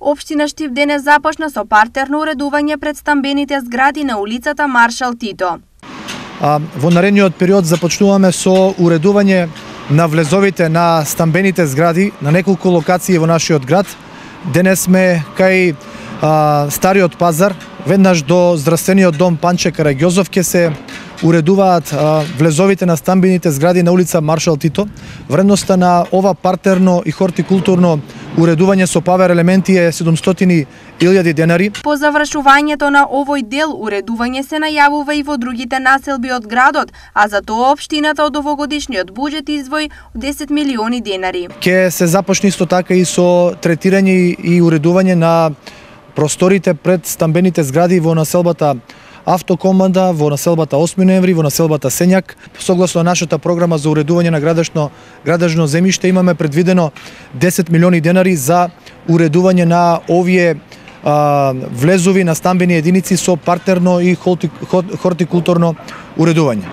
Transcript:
Општина Штип денес започна со партерно уредување пред стамбените згради на улицата Маршал Тито. Во наредниот период започнуваме со уредување на влезовите на стамбените згради на неколку локации во нашиот град. Денес сме кај Стариот пазар, веднаш до здравствениот дом Панче Караѓозов ќе се уредуваат влезовите на стамбените згради на улица Маршал Тито. Вредноста на ова партерно и хортикултурно уредување со павер елементи е 700.000 денари. По завршувањето на овој дел уредување се најавува и во другите населби од градот, а за тоа општината од овогодишниот буџет издвои 10 милиони денари. Ке се започне исто така и со третирање и уредување на просторите пред стамбените згради во населбата Автокоманда, во населбата 8 ноември, во населбата Сењак. Согласно нашата програма за уредување на градежно земјиште имаме предвидено 10 милиони денари за уредување на овие влезови на стамбени единици со партерно и хортикултурно уредување.